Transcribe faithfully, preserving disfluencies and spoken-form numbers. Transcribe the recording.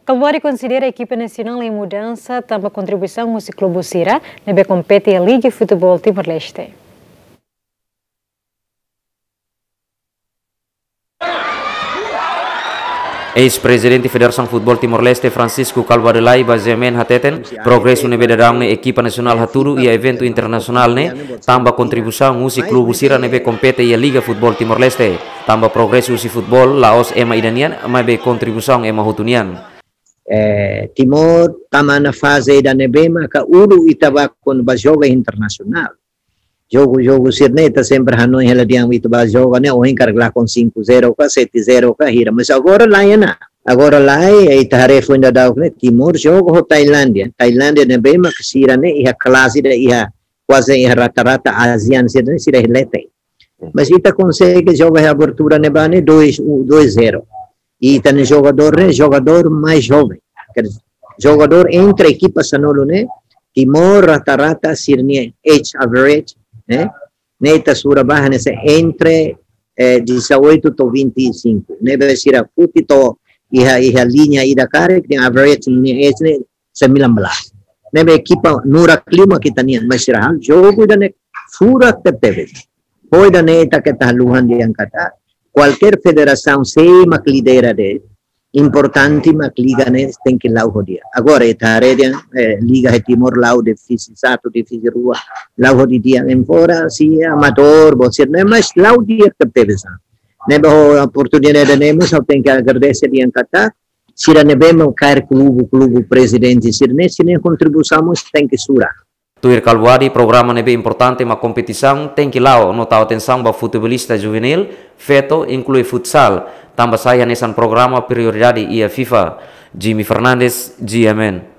Kalbuadi konsidera ekipa nasionál iha mudansa tanba kontribuisaun husi klube sira ne'ebé kompete iha Liga Futeból Timor-Leste. Eis-Prezidente Federasaun Futeból Timor-Leste, Francisco Kalbuadi Lay, ba GMN hateten, progresu ne'ebé daudaun ne'e ekipa nasionál hatudu iha eventu internasionál ne'e, tanba kontribuisaun husi klube sira ne'ebé kompete iha Liga Futeból Timor-Leste. Tanba progresu husi futeból la'ós ema ida nian, maibé kontribuisaun ema hotu nian. Eh, Timor tama ona faze ida ne'ebé maka uluk ita bá kuandu bá joga internasionál. Jogu, jogu sira-ne'e ita sempre hanoin hela dehan ita bá joga ne'e, ohin karik lakon cinco zero ka, sete zero ka, hira. Mas agora lae ona. Agora lae, ita haree foin daudauk ne'e, Timor joga ho Tailándia. Tailándia ne'ebé maka sira-ne'e iha klase ida iha, kuaze iha rata-rata ASEAN sira-ne'e, sira iha leten. Mas ita konsege joga iha abertura ne'ebá ne'e dois, dois zero. I ita-nia jogadór ne'e, jogadór mais joven. Quer dizer, jogadór entre ekipa sanulu ne'e, Timor rata-rata sira-nia age average, eh, ne'e ita sura ba hanesan entre, eh, dezoito to'o vinte e cinco. Ne'ebé sira foti to'o iha, iha liña ida karik, nia average nia age ne'e sembilan belas. Ne'ebé ekipa nurak liu mak ita-nian, mas sira halo jogu ida ne'e furak tebetebes. Ho ida-ne'e ita keta haluha dehan katak kualkér federasaun sé mak lidera de'it, importante mak liga ne'e tenke la'o ho di'ak. Agora ita haree dehan, eh, liga iha Timor la'o divizaun satu, divizaun rua, la'o ho di'ak, embora sei amadór, bosir ne'e, mas la'o di'ak tebetebes. Ne'ebé ho oportunidade ne'e mós ha'u tenke agradese dehan katak sira ne'ebé mak kaer klube, klube prezidente sira-ne'e, sira-nia kontribuisaun mós tenke sura. Tuir Kalbuadi, programa ne'ebé importante mak kompetisaun tenke la'o no tau atensaun ba futebolista juvenil, feto, inklui futsal, tanba sai hanesan programa prioridade iha FIFA. Jimmy Fernandes, GMN.